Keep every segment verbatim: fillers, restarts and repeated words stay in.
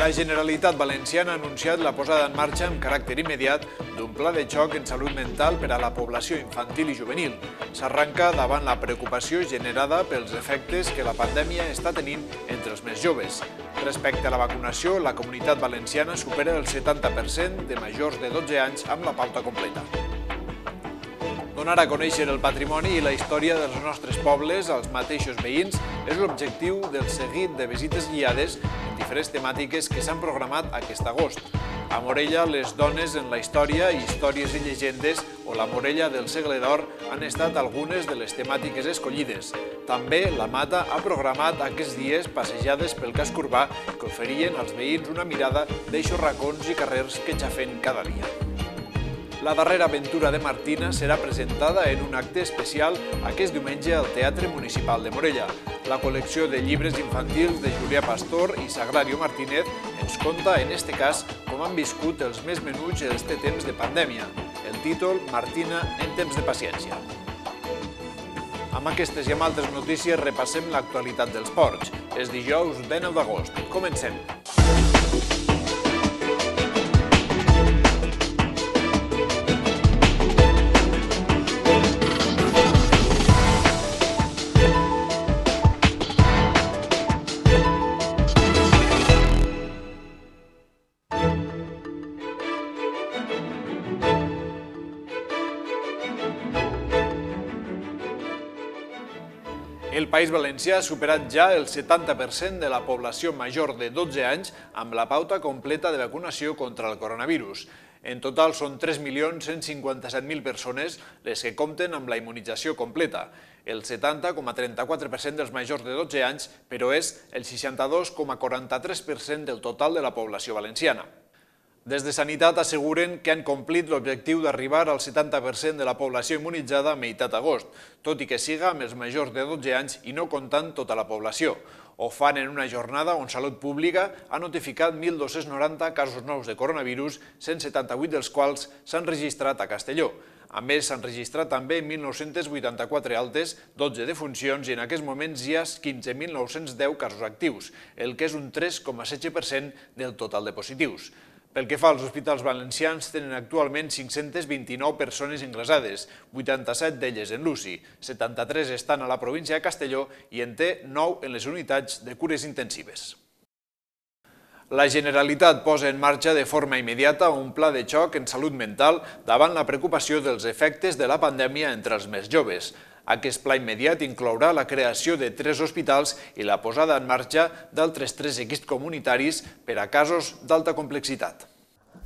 La Generalitat Valenciana ha anunciat la posada en marxa amb caràcter immediat d'un pla de xoc en salut mental per a la població infantil i juvenil. S'arranca davant la preocupació generada pels efectes que la pandèmia està tenint entre els més joves. Respecte a la vacunació, la Comunitat Valenciana supera el setanta per cent de majors de dotze anys amb la pauta completa. Donar a conèixer el patrimoni i la història dels nostres pobles als mateixos veïns és l'objectiu del seguit de visites guiades en diferents temàtiques que s'han programat aquest agost. A Morella, les dones en la història, històries i llegendes o la Morella del segle d'or han estat algunes de les temàtiques escollides. També la Mata ha programat aquests dies passejades pel casc urbà que oferien als veïns una mirada d'eixos racons i carrers que xafen cada dia. La darrera aventura de Martina serà presentada en un acte especial aquest diumenge al Teatre Municipal de Morella. La col·lecció de llibres infantils de Julià Pastor i Sagrario Martínez ens conta, en este cas, com han viscut els més menuts en este temps de pandèmia. El títol, Martina en temps de paciència. Amb aquestes i amb altres notícies repassem l'actualitat dels ports. És dijous dinou d'agost. Comencem. El País Valencià ha superat ja el setanta per cent de la població major de dotze anys amb la pauta completa de vacunació contra el coronavirus. En total són tres milions cent cinquanta-set mil persones les que compten amb la immunització completa. El setanta coma trenta-quatre per cent dels majors de dotze anys, però és el seixanta-dos coma quaranta-tres per cent del total de la població valenciana. Des de Sanitat asseguren que han complit l'objectiu d'arribar al setanta per cent de la població immunitzada a meitat d'agost, tot i que siga amb els majors de dotze anys i no comptant tota la població. Ho fan en una jornada on Salut Pública ha notificat mil dos-cents noranta casos nous de coronavirus, cent setanta-vuit dels quals s'han registrat a Castelló. A més, s'han registrat també mil nou-cents vuitanta-quatre altes, dotze defuncions i en aquests moments hi ha quinze mil nou-cents deu casos actius, el que és un tres coma setze per cent del total de positius. Pel que fa als hospitals valencians, tenen actualment cinc-centes vint-i-nou persones ingressades, vuitanta-set d'elles en l'U C I, setanta-tres estan a la província de Castelló i en té nou en les unitats de cures intensives. La Generalitat posa en marxa de forma immediata un pla de xoc en salut mental davant la preocupació dels efectes de la pandèmia entre els més joves. Aquest pla immediat inclourà la creació de tres hospitals i la posada en marxa d'altres tres equips comunitaris per a casos d'alta complexitat.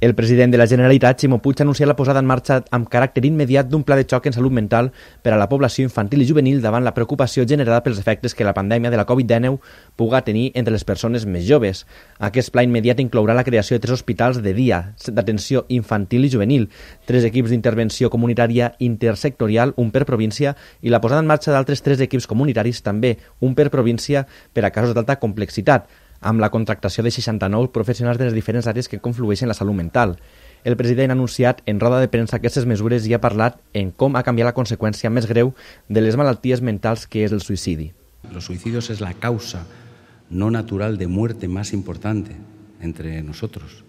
El president de la Generalitat, Ximo Puig, ha anunciat la posada en marxa amb caràcter immediat d'un pla de xoc en salut mental per a la població infantil i juvenil davant la preocupació generada pels efectes que la pandèmia de la Covid dinou puga tenir entre les persones més joves. Aquest pla immediat inclourà la creació de tres hospitals de dia d'atenció infantil i juvenil, tres equips d'intervenció comunitària intersectorial, un per província, i la posada en marxa d'altres tres equips comunitaris, també un per província, per a casos d'alta complexitat, amb la contractació de seixanta-nou professionals de les diferents àrees que conflueixen en la salut mental. El president ha anunciat en roda de premsa aquestes mesures i ha parlat en com ha canviat la conseqüència més greu de les malalties mentals, que és el suïcidi. Los suicidios es la causa no natural de muerte más importante entre nosotros.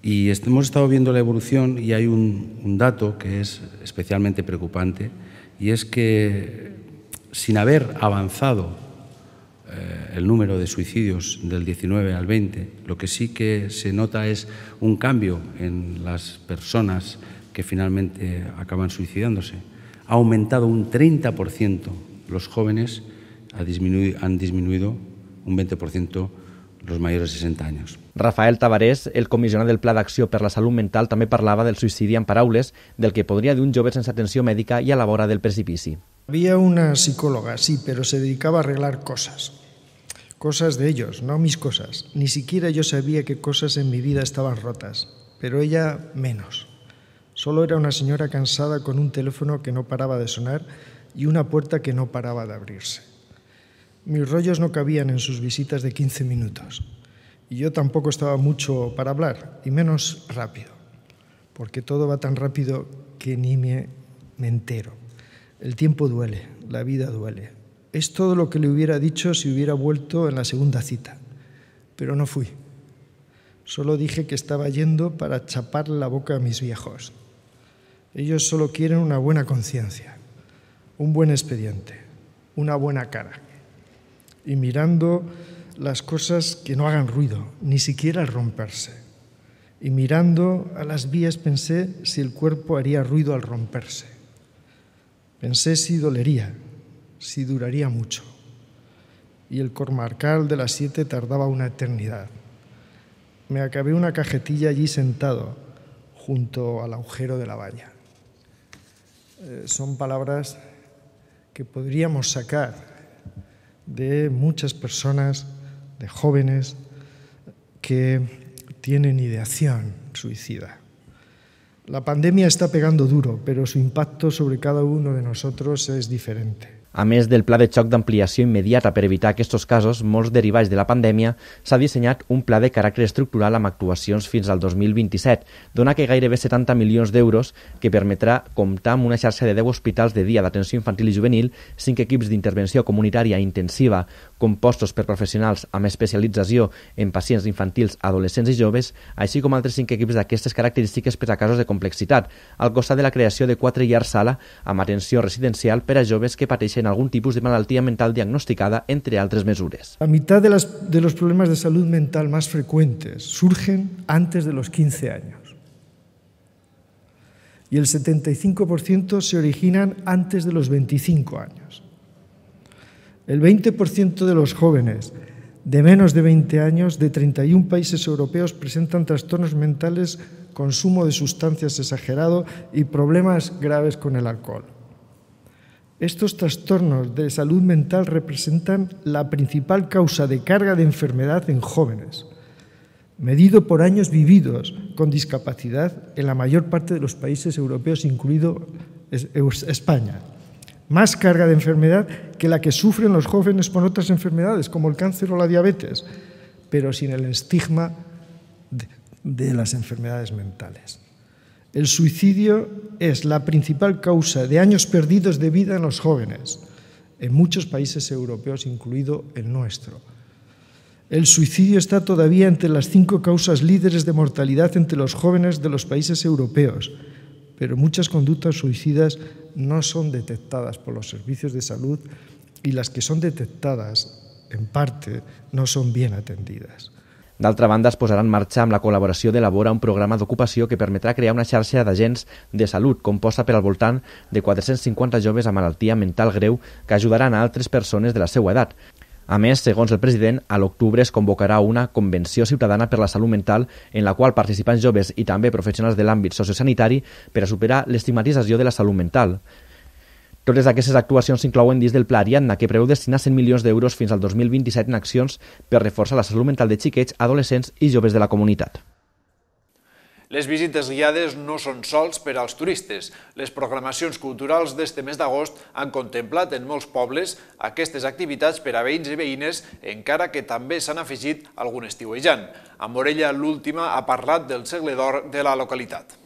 Y hemos estado viendo la evolución y hay un, un dato que es especialmente preocupante, y es que sin haber avanzado el número de suicidios del diecinueve al veinte, lo que sí que se nota es un cambio en las personas que finalmente acaban suicidándose. Ha aumentado un treinta por ciento los jóvenes, ha disminuido, han disminuido un veinte por ciento los mayores de sesenta años. Rafael Tabarés, el comissionat del Pla d'Acció per la Salut Mental, també parlava del suïcidi en paraules, del que podria d'un jove sense atenció mèdica i a la vora del precipici. Había una psicóloga, sí, pero se dedicaba a arreglar cosas. Cosas de ellos, no mis cosas. Ni siquiera yo sabía qué cosas en mi vida estaban rotas, pero ella menos. Solo era una señora cansada con un teléfono que no paraba de sonar y una puerta que no paraba de abrirse. Mis rollos no cabían en sus visitas de quince minutos y yo tampoco estaba mucho para hablar, y menos rápido, porque todo va tan rápido que ni me, me entero. El tiempo duele, la vida duele. Es todo lo que le hubiera dicho si hubiera vuelto en la segunda cita. pero no fui. Solo dije que estaba yendo para chapar la boca a mis viejos. Ellos solo quieren una buena conciencia, un buen expediente, una buena cara. Y mirando las cosas que no hagan ruido, ni siquiera al romperse. Y mirando a las vías pensé si el cuerpo haría ruido al romperse. Pensé si dolería, si duraría mucho. Y el comarcal de las siete tardaba una eternidad. Me acabé una cajetilla allí sentado, junto al agujero de la valla. Eh, son palabras que podríamos sacar de muchas personas, de jóvenes, que tienen ideación suicida. La pandemia está pegando duro, pero su impacto sobre cada uno de nosotros es diferente. A més del pla de xoc d'ampliació immediata per evitar aquests casos, molts derivats de la pandèmia, s'ha dissenyat un pla de caràcter estructural amb actuacions fins al dos mil vint-i-set, dona que gairebé setanta milions d'euros, que permetrà comptar amb una xarxa de deu hospitals de dia d'atenció infantil i juvenil, cinc equips d'intervenció comunitària intensiva compostos per professionals amb especialització en pacients infantils, adolescents i joves, així com altres cinc equips d'aquestes característiques per a casos de complexitat, al costat de la creació de quatre llars sala amb atenció residencial per a joves que pateixen algún tipus de malaltia mental diagnosticada, entre altres mesures. La mitad de, las, de los problemas de salud mental más frecuentes surgen antes de los quince años. Y el setenta y cinco por ciento se originan antes de los veinticinco años. El veinte por ciento de los jóvenes de menos de veinte años de treinta y un países europeos presentan trastornos mentales, consumo de sustancias exagerado y problemas graves con el alcohol. Estos trastornos de salud mental representan la principal causa de carga de enfermedad en jóvenes, medido por años vividos con discapacidad en la mayor parte de los países europeos, incluido España. Más carga de enfermedad que la que sufren los jóvenes con otras enfermedades, como el cáncer o la diabetes, pero sin el estigma de, de las enfermedades mentales. El suicidio es la principal causa de años perdidos de vida en los jóvenes, en muchos países europeos, incluido el nuestro. El suicidio está todavía entre las cinco causas líderes de mortalidad entre los jóvenes de los países europeos, pero muchas conductas suicidas no son detectadas por los servicios de salud y las que son detectadas, en parte, no son bien atendidas. D'altra banda, es posarà en marxa amb la col·laboració de Labora un programa d'ocupació que permetrà crear una xarxa d'agents de salut composta per al voltant de quatre-cents cinquanta joves amb malaltia mental greu que ajudaran a altres persones de la seva edat. A més, segons el president, a l'octubre es convocarà una convenció ciutadana per la salut mental en la qual participants joves i també professionals de l'àmbit sociosanitari per a superar l'estigmatització de la salut mental. Totes aquestes actuacions s'inclouen dins del Pla Ariadna, que preveu destinar cent milions d'euros fins al dos mil vint-i-set en accions per reforçar la salut mental de xiquets, adolescents i joves de la comunitat. Les visites guiades no són sols per als turistes. Les programacions culturals d'este mes d'agost han contemplat en molts pobles aquestes activitats per a veïns i veïnes, encara que també s'han afegit algun estiuejant. A Morella, l'última ha parlat del segle d'or de la localitat.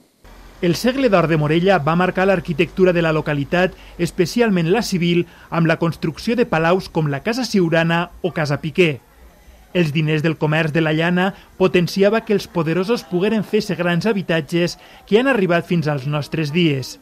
El segle d'or de Morella va marcar l'arquitectura de la localitat, especialment la civil, amb la construcció de palaus com la Casa Siurana o Casa Piquer. Els diners del comerç de la llana potenciava que els poderosos pogueren fer-se grans habitatges que han arribat fins als nostres dies.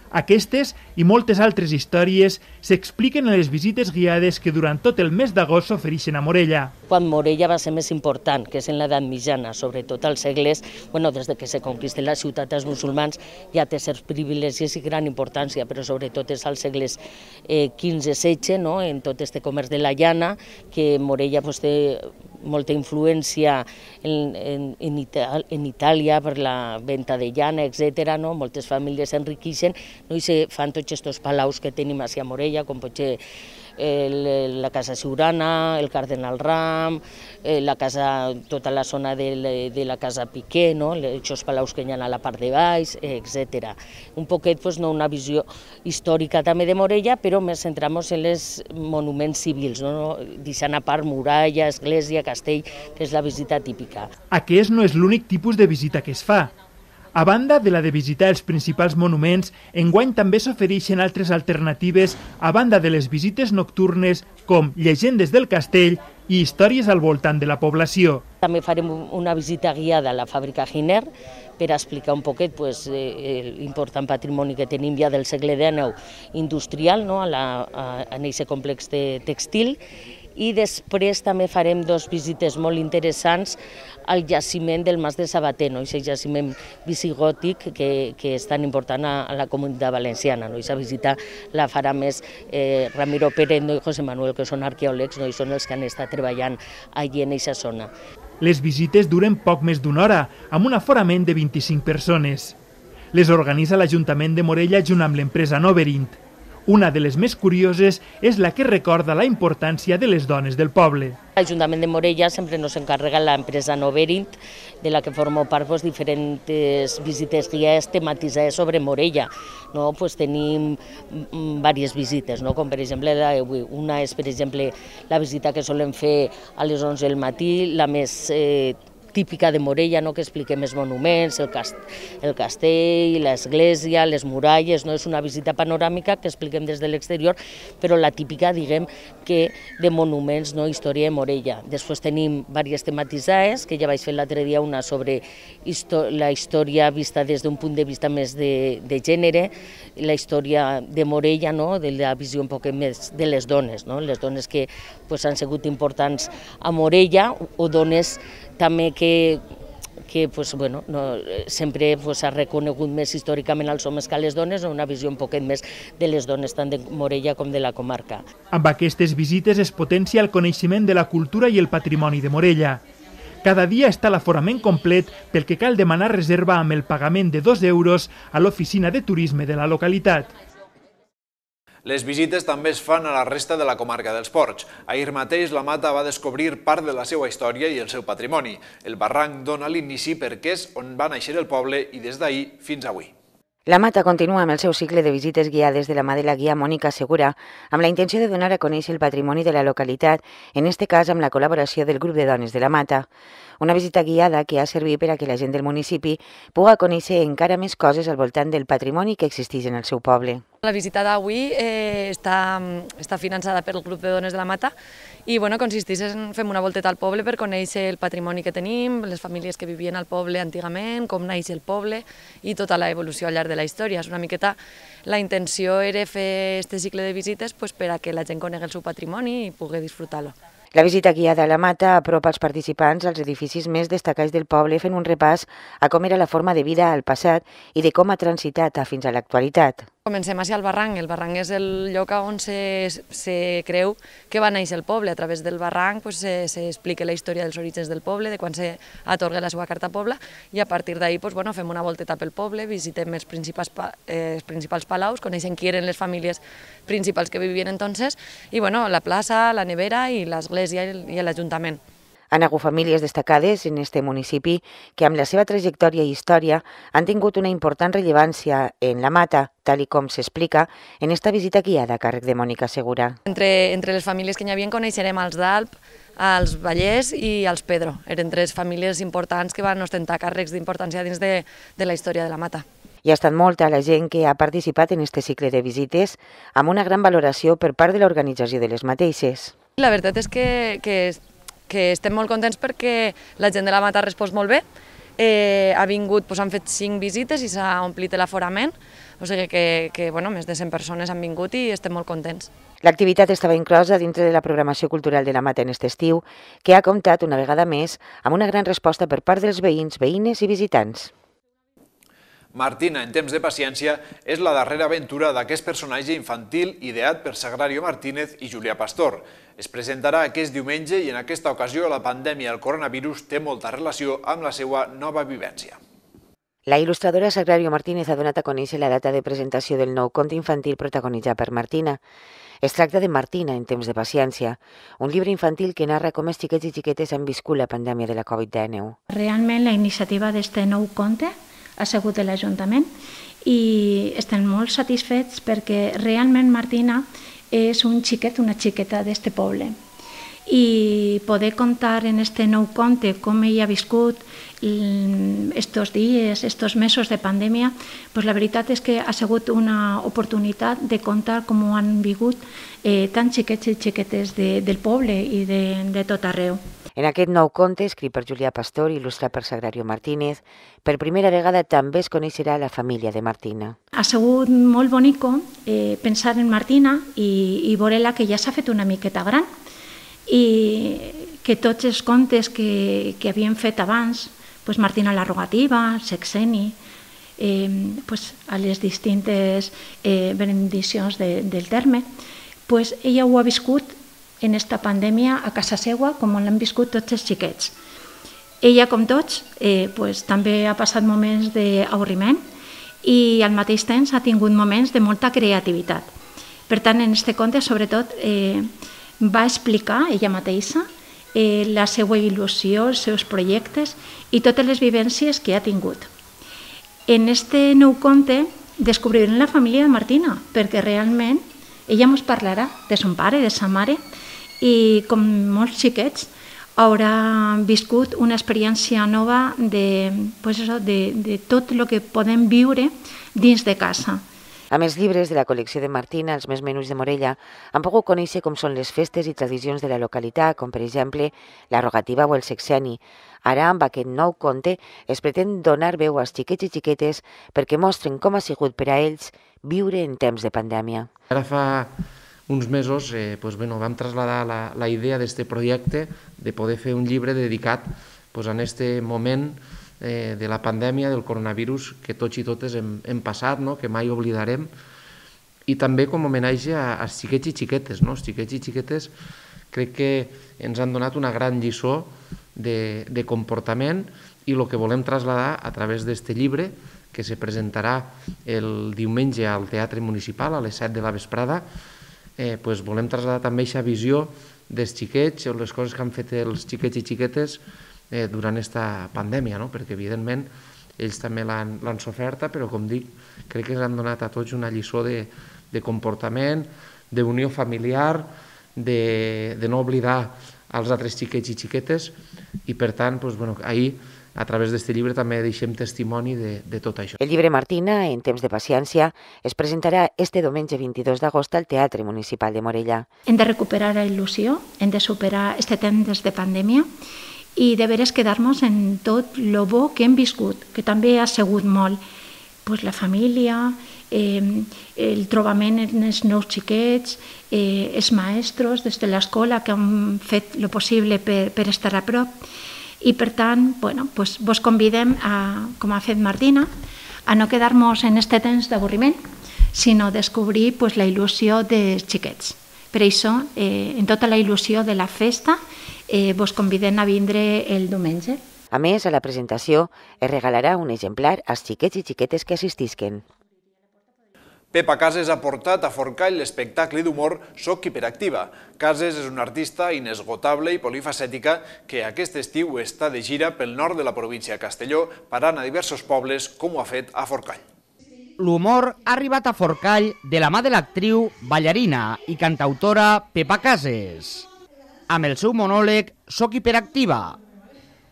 Aquestes i moltes altres històries s'expliquen en les visites guiades que durant tot el mes d'agost s'ofereixen a Morella. Quan Morella va ser més important, que és en l'edat mitjana, sobretot als segles, bueno, des de que se conquisten la ciutat als musulmans, ja té certs privilegis i gran importància, però sobretot és als segles eh, quinze setze, no? En tot este comerç de la llana, que Morella pues, té molta influència en, en, en, Ital en Itàlia per la venda de llana, etcètera. No? Moltes famílies s'enriqueixen, no? I se fan tots aquests palaus que tenim a Morella, com pot ser el, la Casa Siurana, el Cardenal Ram, eh, la casa, tota la zona de, de la Casa Piquer, no? Aquests palaus que hi ha a la part de baix, etcètera. Un poquet, pues, no, una visió històrica també de Morella, però més centramos en els monuments civils, no? Deixant a part muralla, església, castell, que és la visita típica. Aquest no és l'únic tipus de visita que es fa. A banda de la de visitar els principals monuments, enguany també s'ofereixen altres alternatives a banda de les visites nocturnes com Llegendes del Castell, i històries al voltant de la població. També farem una visita guiada a la fàbrica Giner per explicar un poquet pues, eh, l'important patrimoni que tenim ja del segle dinou industrial, no? a la, a, en aquest complex de textil, i després també farem dos visites molt interessants al jaciment del Mas de Sabater, no? Aquest jaciment visigòtic que, que és tan important a, a la comunitat valenciana. No? Aquesta visita la farà més eh, Ramiro Pérez no? i José Manuel, que són arqueòlegs, no? i són els que han estat treballant allí en aquesta zona. Les visites duren poc més d'una hora, amb un aforament de vint-i-cinc persones. Les organitza l'Ajuntament de Morella junt amb l'empresa Noverint. Una de les més curioses és la que recorda la importància de les dones del poble. L'Ajuntament de Morella sempre nos encarrega l'empresa Noverint, de la que formo part pues, diferents visites guiades tematitzades sobre Morella. No? Pues, tenim diverses visites, no? com per exemple una és per exemple la visita que solen fer a les onze del matí, la més eh, típica de Morella, no? que expliquem els monuments, el, cast el castell, l'església, les muralles, no? és una visita panoràmica que expliquem des de l'exterior, però la típica, diguem, que de monuments, no? història de Morella. Després tenim diverses tematitzades, que ja vaig fer l'altre dia una sobre la història vista des d'un punt de vista més de, de gènere, la història de Morella, no? de la visió un poc més de les dones, no? les dones que pues, han sigut importants a Morella, o dones també que, que pues, bueno, no, sempre s'ha pues, reconegut més històricament als homes que a les dones, una visió un poquet més de les dones tant de Morella com de la comarca. Amb aquestes visites es potencia el coneixement de la cultura i el patrimoni de Morella. Cada dia està l'aforament complet, pel que cal demanar reserva amb el pagament de dos euros a l'oficina de turisme de la localitat. Les visites també es fan a la resta de la comarca dels Ports. Ahir mateix la Mata va descobrir part de la seva història i el seu patrimoni. El barranc dona l'inici perquè és on va néixer el poble i des d'ahir fins avui. La Mata continua amb el seu cicle de visites guiades de la mà de la guia Mònica Segura, amb la intenció de donar a conèixer el patrimoni de la localitat, en este cas amb la col·laboració del grup de dones de la Mata. Una visita guiada que ha servit per a que la gent del municipi pugui conèixer encara més coses al voltant del patrimoni que existeix en el seu poble. La visita d'avui eh, està, està finançada pel grup de dones de la Mata i bueno, consisteix en fer una volteta al poble per conèixer el patrimoni que tenim, les famílies que vivien al poble antigament, com naix el poble i tota l'evolució al llarg de la història. És una miqueta, la intenció era fer aquest cicle de visites pues, per a que la gent conegui el seu patrimoni i pugui disfrutar-lo. La visita guiada a la Mata apropa els participants als edificis més destacats del poble fent un repàs a com era la forma de vida al passat i de com ha transitat fins a l'actualitat. Comencem així al barranc. El barranc és el lloc on se, se creu que va néixer el poble. A través del barranc pues, s'explica la història dels orígens del poble, de quan s'atorga la seva carta poble, i a partir d'ahir pues, bueno, fem una volteta pel poble, visitem els principals, eh, els principals palaus, coneixem qui eren les famílies principals que vivien entonces, i bueno, la plaça, la nevera i l'església i l'Ajuntament. Han hagut famílies destacades en este municipi que amb la seva trajectòria i història han tingut una important rellevància en la Mata, tal i com s'explica en esta visita guiada a càrrec de Mònica Segura. Entre, entre les famílies que hi havia coneixerem els d'Alp, els Vallès i els Pedro. Eren tres famílies importants que van ostentar càrrecs d'importància dins de, de la història de la Mata. Hi ha estat molta la gent que ha participat en este cicle de visites amb una gran valoració per part de l'organització de les mateixes. La veritat és que, que que estem molt contents perquè la gent de la Mata ha respost molt bé, eh, ha vingut, doncs han fet cinc visites i s'ha omplit l'aforament, o sigui que, que bueno, més de cent persones han vingut i estem molt contents. L'activitat estava inclosa dintre de la programació cultural de la Mata en aquest estiu, que ha comptat una vegada més amb una gran resposta per part dels veïns, veïnes i visitants. Martina, en temps de paciència, és la darrera aventura d'aquest personatge infantil ideat per Sagrario Martínez i Julià Pastor. Es presentarà aquest diumenge i en aquesta ocasió la pandèmia del coronavirus té molta relació amb la seva nova vivència. La il·lustradora Sagrario Martínez ha donat a conèixer la data de presentació del nou conte infantil protagonitzat per Martina. Es tracta de Martina, en temps de paciència, un llibre infantil que narra com els xiquets i xiquetes han viscut la pandèmia de la Covid dinou. Realment la iniciativa d'aquest nou conte ha sigut de l'Ajuntament i estem molt satisfets perquè realment Martina és un xiquet, una xiqueta d'este poble. i poder contar en este nou conte com ella ha viscut estos dies, estos mesos de pandèmia, pues la veritat és que ha sigut una oportunitat de contar com ho han vingut eh, tant xiquets i xiquetes de, del poble i de, de tot arreu. En aquest nou conte, escrit per Julià Pastor i il·lustrat per Sagrario Martínez, per primera vegada també es coneixerà la família de Martina. Ha sigut molt bonico eh, pensar en Martina i, i veure-la que ja s'ha fet una miqueta gran i que tots els contes que, que havien fet abans, pues Martina la Rogativa, Sexeni, eh, pues a les distintes eh, benediccions de, del terme, pues ella ho ha viscut en esta pandèmia a casa seva com l'han viscut tots els xiquets. Ella, com tots, eh, pues, també ha passat moments d'avorriment i al mateix temps ha tingut moments de molta creativitat. Per tant, en aquest conte, sobretot, eh, va explicar ella mateixa eh, la seva il·lusió, els seus projectes i totes les vivències que ha tingut. En aquest nou conte descobrirem la família de Martina, perquè realment ella ens parlarà de son pare, de sa mare, i com molts xiquets haurà viscut una experiència nova de, pues eso, de, de tot el que podem viure dins de casa. Amb els llibres de la col·lecció de Martina, els més menuts de Morella, han pogut conèixer com són les festes i tradicions de la localitat, com per exemple la Rogativa o el Sexeni. Ara, amb aquest nou conte, es pretén donar veu als xiquets i xiquetes perquè mostren com ha sigut per a ells viure en temps de pandèmia. Ara fa uns mesos eh, pues, bueno, vam traslladar la, la idea d'aquest projecte de poder fer un llibre dedicat pues, en aquest moment eh, de la pandèmia, del coronavirus, que tots i totes hem, hem passat, no? Que mai oblidarem, i també com a homenatge a, als xiquets i xiquetes. No? Els xiquets i xiquetes crec que ens han donat una gran lliçó de, de comportament i el que volem traslladar a través d'aquest llibre, que se presentarà el diumenge al Teatre Municipal a les set de la vesprada, eh, pues volem traslladar també aquesta visió dels xiquets o les coses que han fet els xiquets i xiquetes eh, durant aquesta pandèmia, no? Perquè evidentment ells també l'han soferta, però com dic, crec que ens han donat a tots una lliçó de, de comportament, d'unió familiar, de, de no oblidar els altres xiquets i xiquetes, i per tant, doncs, bueno, ahir a través d'aquest llibre també deixem testimoni de, de tot això. El llibre Martina, en temps de paciència, es presentarà este diumenge vint-i-dos d'agost al Teatre Municipal de Morella. Hem de recuperar la il·lusió, hem de superar este temps de pandèmia i de veres quedar-nos en tot lo bo que hem viscut, que també ha sigut molt. Pues la família, eh, el trobament en els nous xiquets, eh, els maestros des de l'escola que han fet el possible per, per estar a prop. I per tant, bueno, pues vos convidem, a, com ha fet Martina, a no quedar-nos en aquest temps d'avorriment, sinó descobrir pues, la il·lusió dels xiquets. Per això, eh, en tota la il·lusió de la festa, eh, vos convidem a vindre el diumenge. A més, a la presentació es regalarà un exemplar als xiquets i xiquetes que assistisquen. Pepa Cases ha portat a Forcall l'espectacle d'humor Soc Hiperactiva. Cases és una artista inesgotable i polifacètica que aquest estiu està de gira pel nord de la província de Castelló, parant a diversos pobles com ho ha fet a Forcall. L'humor ha arribat a Forcall de la mà de l'actriu, ballarina i cantautora Pepa Cases, amb el seu monòleg Soc Hiperactiva,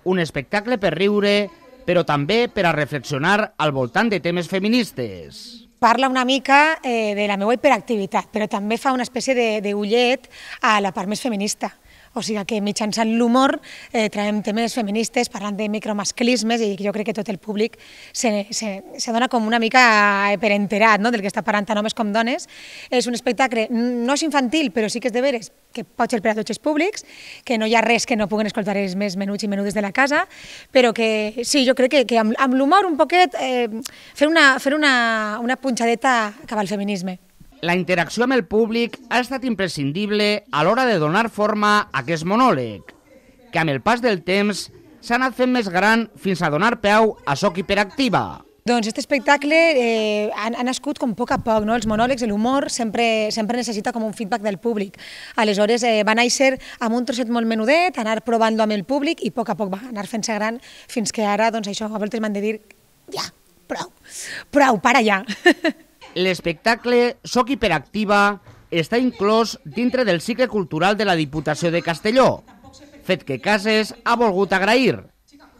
un espectacle per riure, però també per a reflexionar al voltant de temes feministes. Parla una mica eh, de la meva hiperactivitat, però també fa una espècie d'ullet a la part més feminista. O sigui que mitjançant l'humor eh, traiem temes feministes, parlant de micromasclismes, i jo crec que tot el públic se, se, se dona com una mica per enterat, no?, del que està parlant tant homes com dones. És un espectacle, no és infantil, però sí que és de veres, que pot ser per a tots els públics, que no hi ha res que no puguen escoltar els més menuts i menudes de la casa, però que sí, jo crec que, que amb, amb l'humor un poquet eh, fer, una, fer una, una punxadeta cap al feminisme. La interacció amb el públic ha estat imprescindible a l'hora de donar forma a aquest monòleg, que amb el pas del temps s'ha anat fent més gran fins a donar peu a Soc Hiperactiva. Doncs aquest espectacle eh, ha, ha nascut com a poc a poc, no? Els monòlegs, l'humor, sempre, sempre necessita com un feedback del públic. Aleshores eh, va néixer amb un trosset molt menudet, anar provant-lo amb el públic i a poc a poc va anar fent-se gran fins que ara, doncs això, a voltes m'han de dir, ja, prou, prou, para ja. L'espectacle Soc Hiperactiva està inclòs dintre del cicle cultural de la Diputació de Castelló, fet que Cases ha volgut agrair,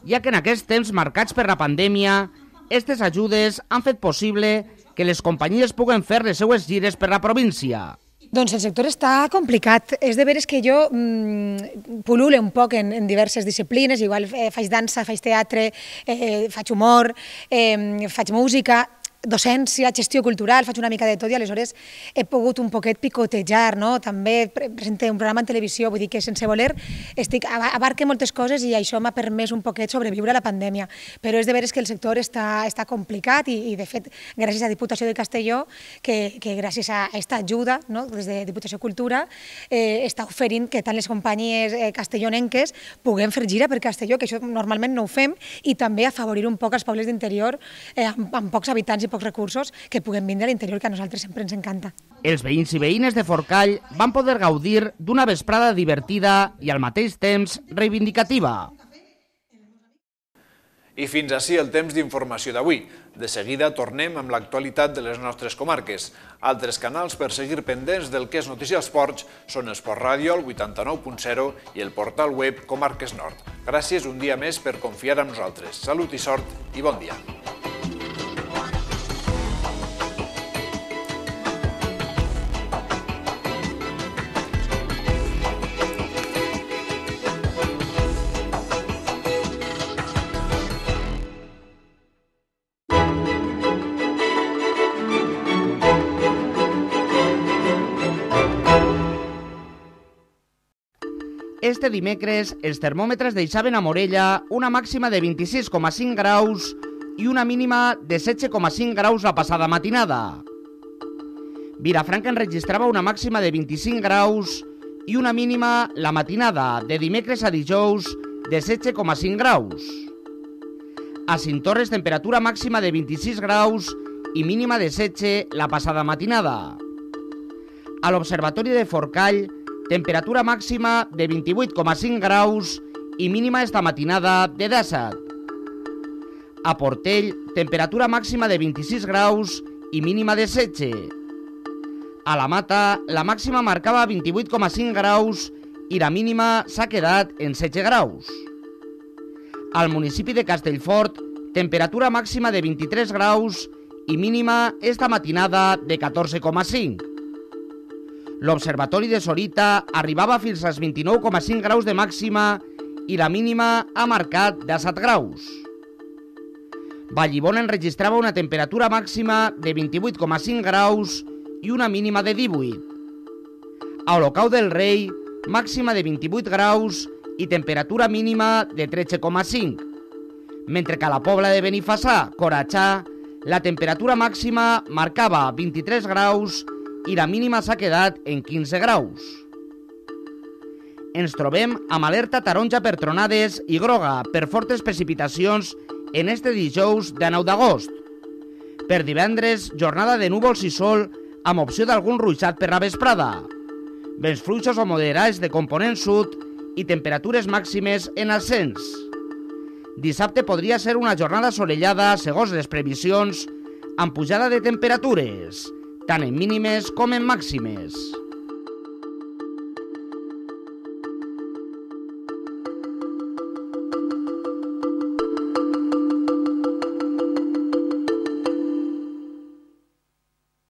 ja que en aquests temps marcats per la pandèmia, aquestes ajudes han fet possible que les companyies puguen fer les seues gires per la província. Doncs el sector està complicat. És de veres que jo mmm, pul·lule un poc en, en diverses disciplines, igual eh, faig dansa, faig teatre, eh, faig humor, eh, faig música, docència, gestió cultural, faig una mica de tot i aleshores he pogut un poquet picotejar, no? També presento un programa en televisió, vull dir que sense voler estic, abarque moltes coses i això m'ha permès un poquet sobreviure a la pandèmia, però és de veres que el sector està, està complicat i, i de fet gràcies a Diputació de Castelló que, que gràcies a aquesta ajuda, no? Des de Diputació Cultura eh, està oferint que tant les companyies eh, castellonenques puguem fer gira per Castelló, que això normalment no ho fem, i també afavorir un poc els pobles d'interior eh, amb, amb pocs habitants i pocs recursos que puguem vindre a l'interior, que a nosaltres sempre ens encanta. Els veïns i veïnes de Forcall van poder gaudir d'una vesprada divertida i al mateix temps reivindicativa. I fins ací el temps d'informació d'avui. De seguida tornem amb l'actualitat de les nostres comarques. Altres canals per seguir pendents del que és notícia esports són Esport Ràdio, el vuitanta-nou punt zero i el portal web Comarques Nord. Gràcies un dia més per confiar en nosaltres. Salut i sort i bon dia. Este dimecres, els termòmetres deixaven a Morella una màxima de vint-i-sis coma cinc graus i una mínima de setze coma cinc graus la passada matinada. Vilafranca enregistrava una màxima de vint-i-cinc graus i una mínima la matinada de dimecres a dijous de setze coma cinc graus. A Cinctorres, temperatura màxima de vint-i-sis graus i mínima de setze la passada matinada. A l'Observatori de Forcall, temperatura màxima de vint-i-vuit coma cinc graus i mínima esta matinada de disset. A Portell, temperatura màxima de vint-i-sis graus i mínima de setze. A la Mata, la màxima marcava vint-i-vuit coma cinc graus i la mínima s'ha quedat en setze graus. Al municipi de Castellfort, temperatura màxima de vint-i-tres graus i mínima esta matinada de catorze coma cinc. L'Observatori de Sorita arribava fins als vint-i-nou coma cinc graus de màxima i la mínima ha marcat disset graus. Vallibona enregistrava una temperatura màxima de vint-i-vuit coma cinc graus i una mínima de divuit. A Olocau del Rei, màxima de vint-i-vuit graus i temperatura mínima de tretze coma cinc. Mentre que a la Pobla de Benifassà, Coratxà, la temperatura màxima marcava vint-i-tres graus i la mínima s'ha quedat en quinze graus. Ens trobem amb alerta taronja per tronades i groga per fortes precipitacions en este dijous de nou d'agost. Per divendres, jornada de núvols i sol amb opció d'algun ruixat per la vesprada. Vents fluixos o moderats de component sud i temperatures màximes en ascens. Dissabte podria ser una jornada solellada segons les previsions amb pujada de temperatures, tant en mínimes com en màximes.